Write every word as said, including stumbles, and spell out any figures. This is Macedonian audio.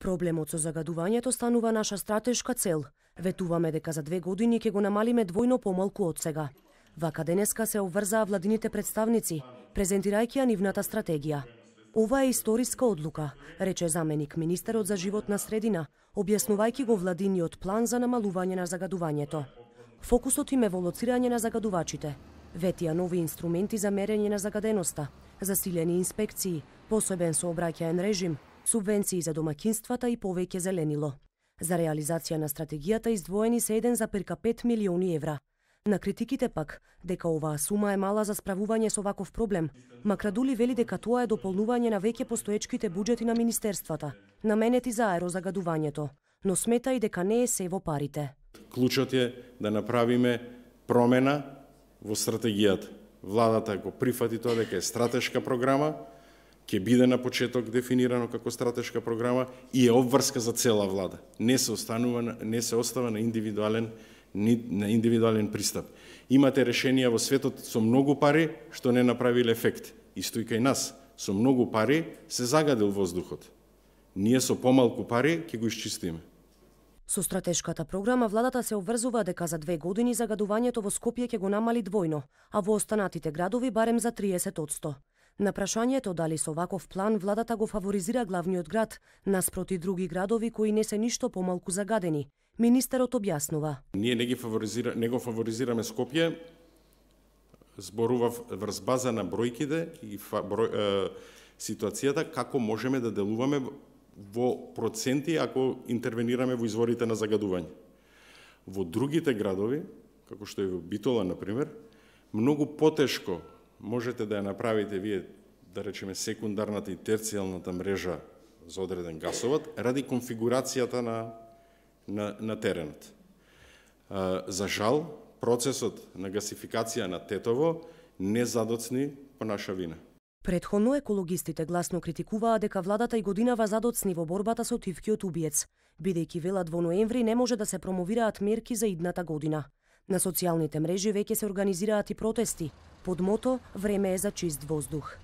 Проблемот со загадувањето станува наша стратешка цел. Ветуваме дека за две години ќе го намалиме двојно помалку од сега. Вака денеска се обврзаа владините представници, презентирајќи ја нивната стратегија. Ова е историска одлука, рече заменик министерот за животна средина, објаснувајќи го владиниот план за намалување на загадувањето. Фокусот им е волоцирање на загадувачите, ветија нови инструменти за мерење на загаденоста, засилени инспекции, посебен сообраќаен режим, субвенции за домаќинствата и повеќе зеленило. За реализација на стратегијата издвоени се еден зарез пет милиони евра. На критиките пак, дека оваа сума е мала за справување со ваков проблем, Макрадули вели дека тоа е дополнување на веќе постоечките буџети на министерствата, наменети за аерозагадувањето, но смета и дека не е се во парите. Клучот е да направиме промена во стратегијата. Владата го прифати тоа дека е стратешка програма, ќе биде на почеток дефинирано како стратешка програма и е обврска за цела влада. Не се останува, не се остава на индивидуален на индивидуален пристап. Имате решенија во светот со многу пари што не направиле ефект. Исто и кај нас, со многу пари се загадил воздухот. Ние со помалку пари ќе го исчистиме. Со стратешката програма владата се обврзува дека за две години загадувањето во Скопје ќе го намали двојно, а во останатите градови барем за триесет одсто. На прашањето дали со ваков план владата го фаворизира главниот град наспроти други градови кои не се ништо помалку загадени, министерот објаснува. Ние не ги фаворизира, не го фаворизираме Скопје, зборував врз база на бројките и број, е, ситуацијата како можеме да делуваме во проценти ако интервенираме во изворите на загадување. Во другите градови, како што е во Битола, например, многу потешко можете да ја направите вие, да речеме, секундарната и терцијалната мрежа за одреден гасовод, ради конфигурацијата на, на, на теренот. За жал, процесот на гасификација на Тетово не задоцни по наша вина. Претходно екологистите гласно критикуваа дека владата и годинава задоцни во борбата со тивкиот убиец, бидејќи велат во ноември не може да се промовираат мерки за идната година. На социјалните мрежи веќе се организираат и протести, под мото «Време е за чист воздух».